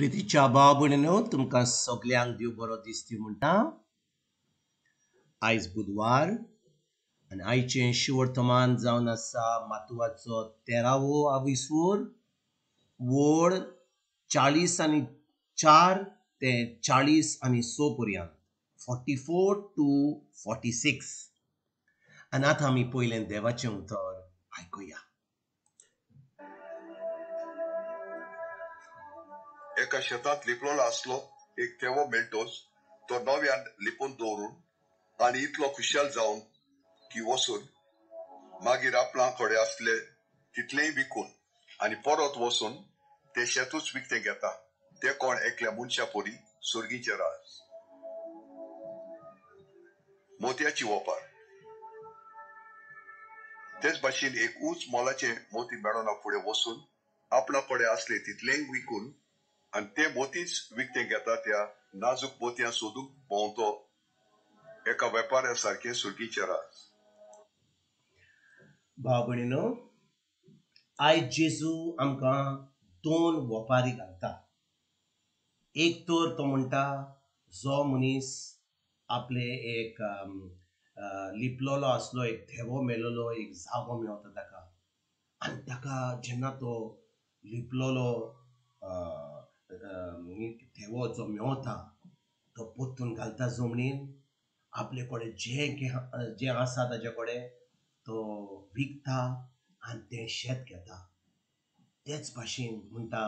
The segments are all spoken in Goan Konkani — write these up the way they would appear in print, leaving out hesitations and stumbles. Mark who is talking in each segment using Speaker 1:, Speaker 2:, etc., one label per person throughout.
Speaker 1: प्रितीच्या भाव भयणीनो, तुमकां सगल्यांक देव बरो दिसती म्हणटा. आयज बुधवार आनी आयचें शिवर्तमान जावन आसा मातुवाचो 13वो आविसवोर, वोड 44 ते 46 पर्यंत, 44 to 46. आनी आतां आमी पयलें देवाचें उतर आयकुया.
Speaker 2: एका शेतांत लिपलोलो आसलो एक थेवो मेळटोच तो नव्यान लिपून दवरून आनी इतलो खुशाल जावन की वचून मागीर आपणा कडेन आसले तितलेंय विकून आनी परत वचून ते शेतूच विकतें घेता. ते कोण एकल्या मनशा परी सुर्गीचें राज. मोतयाची वपार. तेच भाशेन एक उंच मोलाचें मोती मेळना फुडें वचून आपणा कडेन आसले तितलेंय विकून आनी ते मोतीच विकतें घेता. त्या नाजूक मोतयां सोदूंक भोंवतो एका वेपाऱ्या सारकें सुर्गीचें राज.
Speaker 1: भाव भयणीनो, आयज जेजू आमकां दोन वपारी घालता. एक तर तो म्हणटा, जो मनीस आपले एक लिपलोलो आसलो एक थेवो मेलोलो एक जागो मेवता ताका, आनी ताका जेन्ना तो लिपलोलो थेवो जो मेवता तो पोत्तून घालता जमनीन, आपले कडेन जें जें आसा ताजे कडेन तो विकता आनी तें शेत घेता. तेच भाशेन म्हणटा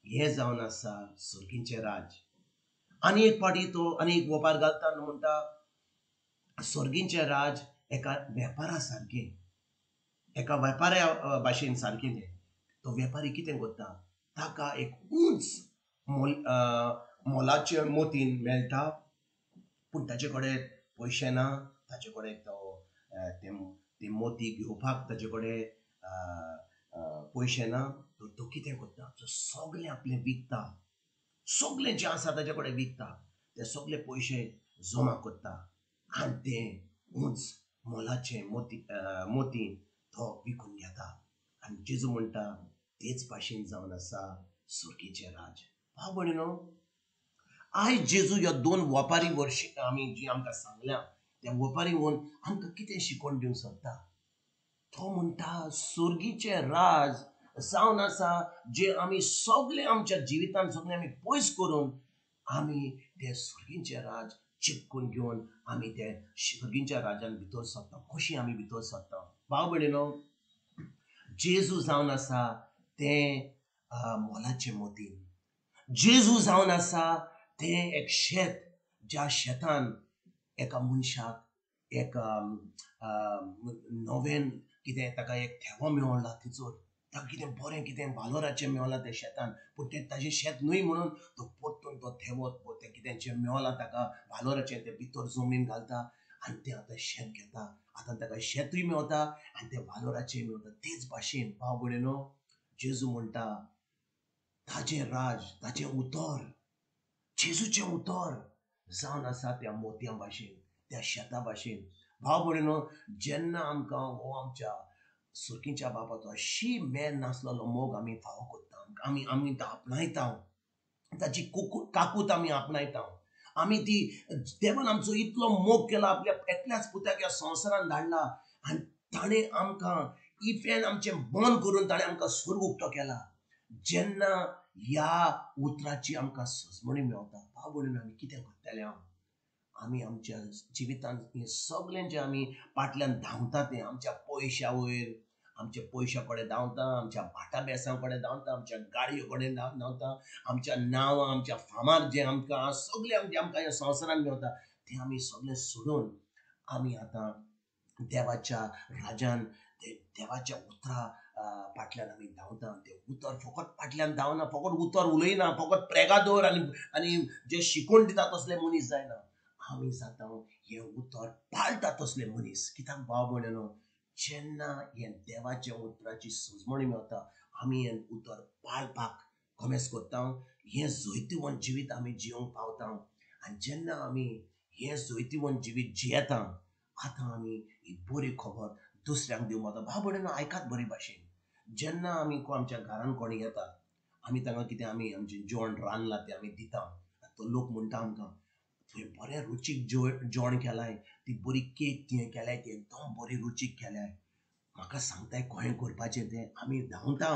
Speaker 1: हें जावन आसा सर्गीचें राज. आनी एक फावटी तो आनी एक वपार घालता आनी म्हणटा सर्गीचें राज एका वेपारा सारकें, एका वेपाऱ्या भाशेन सारकें. तें तो वेपारी कितें करता, ताका एक उंच मोलाचें मोतीन मेळटा, पूण ताचे कडेन पयशे ना, ताचे कडेन तो ते मोती घेवपाक ताचे कडेन पयशे ना. तर तो कितें करता, तो सगळें आपलें विकता, सगळें जें आसा ताचे कडेन विकता, ते सगळे पयशे जमा करता आनी तें उंच मोलाचें मोती तो विकून घेता. आनी जेजू म्हणटा तेच भाशेन जावन आसा सुर्गीचें राज. भाव भयणीनो, आयज जेजू ह्या दोन वपारी वर्शी आमी जी आमकां सांगल्या त्या वपारी वरून आमकां कितें शिकोवन दिवंक सोदता. तो म्हणटा सुर्गीचें राज जावन आसा जे आमी सगळे आमच्या जिवितान सगळे आमी पयस करून आमी ते सुर्गीचें राज चिपकून घेवन आमी ते सुर्गीच्या राजान भितर सरता. कशी आमी भितर सरता भाव भयणीनो, जेजू जावन आसा तें मोलाचें मोतीन. जेजू जावन आसा तें एक शेत, ज्या शेतान एका मनशाक एक नवें कितें ताका एक थेवो मेवला, तिचो ताका कितें बरें कितें वालोराचें मेवलां त्या शेतान, पूण तें ताजें शेत न्हय म्हणून तो परतून तो थेवो तें कितें जें मेवलां ताका वालोराचें तें भितर जमनीन घालता आनी तें आतां शेत घेता. आतां ताका शेतूय मेवता आनी तें वालोराचें मेवता. तेच भाशेन भाव भयणीनो, जेजू म्हणटा ताजें राज, ताजें उतर, जेजूचें उतर जावन आसा त्या मोतयां भाशेन, त्या शेता भाशेन. भाव भयणीनो, जेन्ना आमकां हो आमच्या सुर्गीच्या बापाचो अशी मेर नासलेलो मोग आमी फावो करता, आमी आमी तो आपणायता, ताची काकूत आमी आपणायता, आमी ती देवान आमचो इतलो मोग केला, आपल्या एकल्याच पुताक ह्या संवसारान धाडला आनी ताणें आमकां इफेन आमचें बंद करून ताणें आमकां स्वर्ग उक्तो केला. जेन्ना ह्या उतराची आमकां सजमणी मेवता भाव भयणीनो, आमी कितें करतले? आमी आमच्या जिवितांत हें सगळें जें आमी फाटल्यान धांवता तें आमच्या पयश्या वयर, आमच्या पयश्या कडेन धांवता, आमच्या भाटा बेसां कडेन धांवता, आमच्या गाडयो कडेन धांवता, आमच्या नांवां, आमच्या फामार जें आमकां सगळें आमचें आमकां ह्या संवसारान मेवता तें आमी सगळें सोडून आमी आतां देवाच्या राजान देवाच्या उतरा फाटल्यान आमी धांवता. तें उतर फकत फाटल्यान धांवना, फकत उतर उलयना, फकत प्रेगादोर आनी आनी जे शिकोवन दिता तसले मनीस जायना, आमी जाता हें उतर पाळटा तसले मनीस. कित्याक भाव भयणीनो, जेन्ना हें देवाच्या उतराची सजमणी मेवता आमी हें उतर पाळपाक कोमेस करता, हें जैतिवंत जिवीत आमी जिवंक पावता. आनी जेन्ना आमी हें जैतिवंत जिवीत जियेता आतां आमी ही बरी खबर दुसऱ्यांक दिवंक पावता. भाव भयणीनो, आयकात बरी भाशेन, जेन्ना आमी आमच्या घरान कोणी येता आमी तांकां कितें आमी आमचें जेवण रांदलां तें आमी दिता, तो लोक म्हणटा आमकां तुवें बरें रुचीक जेवण केलां, ती बरी केक तुवें केल्याय ती एकदम बरी रुचीक केल्याय, म्हाका सांगताय कशें करपाचें तें. आमी धांवता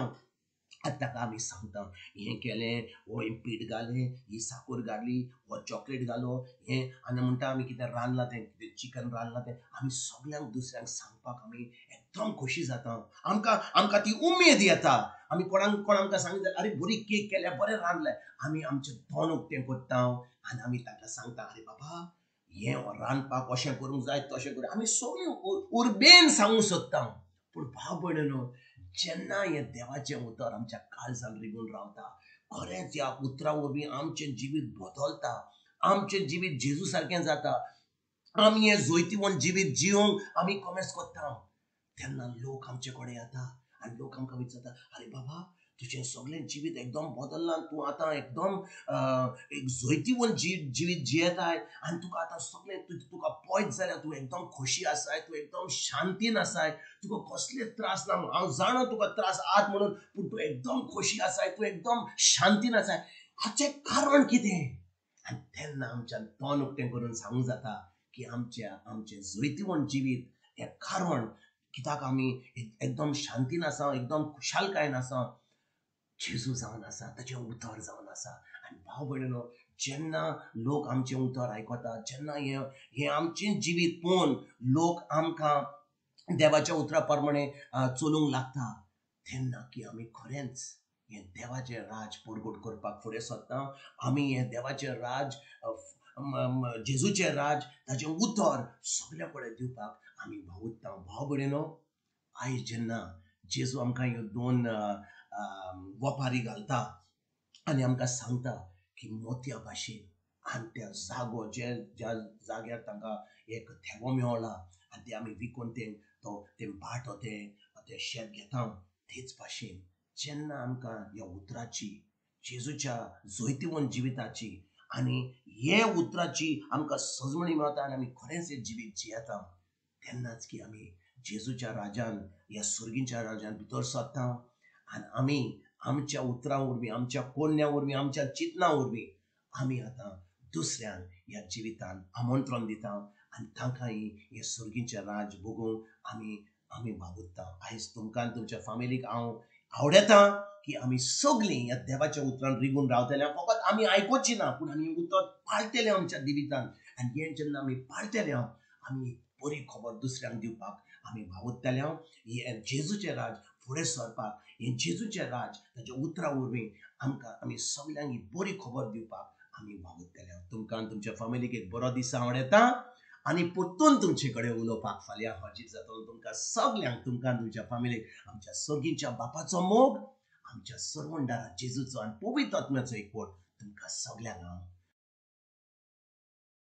Speaker 1: आनी ताका आमी सांगता हें केलें, हो हें पीठ घालें, ही साकर घाली, हो चॉकलेट घालो, हें आनी म्हणटा आमी कितें रांदलां तें, कितें चिकन रांदलां तें आमी सगल्यांक दुसऱ्यांक सांगपाक आमी एकदम खोशी जाता. आमकां आमकां ती उमेद येता. आमी कोणाक कोण आमकां सांगित अरे बरी केक केल्या, बरें रांदलें, आमी आमचें तोंड उक्तें करता आनी आमी तांकां सांगता अरे बाबा हें रांदपाक अशें करूंक जाय तशें करूंक, आमी सगळीं उर्बेन सांगूंक सोदता. पूण भाव भयणीनो, जेन्ना हें देवाचें उतर आमच्या काळजान रिगून रावता, खरेंच ह्या उतरा वरवीं आमचें जिवीत बदलता, आमचें जिवीत जेजू सारकें जाता, आमी हें जैतिवंत जिवीत जिवंक आमी कॉमेस करता. तेन्ना लोक आमचे कडेन येता आनी लोक आमकां विचारता अरे बाबा तुजें सगळें जिवीत एकदम बदल्लां, तूं आतां एकदम एक जैतिवंत जिवीत जियेताय आनी तुका आतां सगळें तुका पयत जाल्यार तूं एकदम खोशी आसाय, तूं एकदम शांतीन आसाय, तुका कसले त्रास ना, हांव जाणा तुका त्रास आहात म्हणून, पूण तूं एकदम खोशी आसाय, तूं एकदम शांतीन आसाय. हाचें कारण कितें? आनी तेन्ना आमच्यान तोंड उक्तें करून सांगूंक जाता की आमच्या आमचें जैतिवंत जिवीत हें कारण कित्याक आमी एकदम शांतीन आसा, एकदम खुशालकायेन आसा, जेजू जावन आसा, ताचें उतर जावन आसा. आनी भाव भयणीनो, जेन्ना लोक आमचें उतर आयकता, जेन्ना हें हें आमचें जिवीत पळोवन लोक आमकां देवाच्या उतरा प्रमाणे चलूंक लागता, तेन्ना की आमी खरेंच हें देवाचें राज परगट करपाक फुडें सरता. आमी हें देवाचें राज, जेजूचें राज, ताचें उतर सगल्या कडेन दिवपाक आमी वावुरता. भाव भयणीनो, आयज जेन्ना जेजू आमकां ह्यो दोन वपारी घालता आनी आमकां सांगता की मोतया भाशेन आनी त्या जागो जे ज्या जाग्यार तांकां एक थेवो मेवला आनी ते आमी विकून तें तो तें भाट तें तें शेत घेता, तेच भाशेन जेन्ना आमकां ह्या उतराची, जेजूच्या जैतिवंत जिविताची आनी हे उतराची आमकां सजमणी मेळटा आनी आमी खरेंच हें जिवीत जियेता, तेन्नाच की आमी जेजूच्या राजान, ह्या सुर्गीच्या राजान भितर सरता आनी आमी आमच्या उतरां वरवीं, आमच्या कोन्या वरवीं, आमच्या चिंतना वरवीं आमी आतां दुसऱ्यांक ह्या जिवितान आमंत्रण दिता आनी तांकांय हें सुर्गीचें राज भोगूंक आमी आमी वावुरता. आयज तुमकां आनी तुमच्या फामिलीक हांव आवडटा की आमी सगळीं ह्या देवाच्या उतरान रिगून रावतले. फकत आमी आयकुची ना, पूण आमी उतर पाळटले आमच्या जिवितान आनी हें जेन्ना आमी पाळटले आमी बरी खबर दुसऱ्यांक दिवपाक आमी वावुरतले. हें जेजूचें राज फुडें सरपाक, हें जेजूचें राज ताच्या उतरां वरवीं आमकां आमी सगल्यांक ही बरी खबर दिवपाक आमी वावुरतले. तुमकां आनी तुमच्या फामिलीक एक बरो दीस आवडटा आनी परतून तुमचे कडेन उलोवपाक फाल्यां हजीर जातलो. तुमकां सगल्यांक, तुमकां आनी तुमच्या फामिलीक आमच्या सर्गीच्या बापाचो मोग, आमच्या सर्वंडारा जेजूचो आनी पवित्र आत्म्याचो एकवट तुमकां सगल्यांक हांव